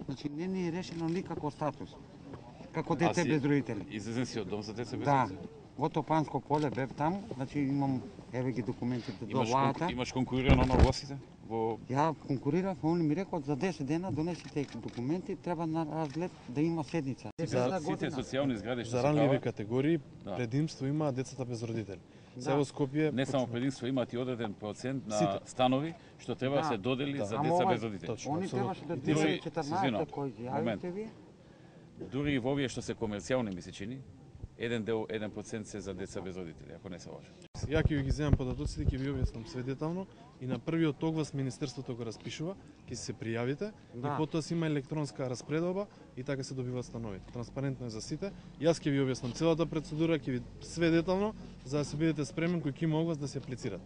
Значи не ни е решено никако статус. Како дете без родители. Излезен си од дом за деца без Да. родители? Во Топанско поле бев таму, значи имам еве ги документите до владата. Имаш конкурирано на огласите? Ја конкурирав, они ми рекол за 10 дена донесите документи, треба на разглед да има седница. Сите социјални згради што за ранливи категории предимство има децата без родители. Се во Скопје не само предимство, имаат и одреден процент на станови што треба да се додели за деца без родители. Они требаше да делат 14 кои јавите ви. Дури и во овие што се комерцијални ми се чини, 1% се за деца без родители, ако не се лажам. Ја ќе ги земам податоците, ќе ви објаснам све детално и на првиот оглас Министерството го распишува, ќе се пријавите и потоа си има електронска распредоба и така се добиваат станови. Транспарентно е за сите. Јас ќе ви објаснам целата процедура, ќе ви све детално за да се бидете спремен кој ќе има оглас да се аплицират.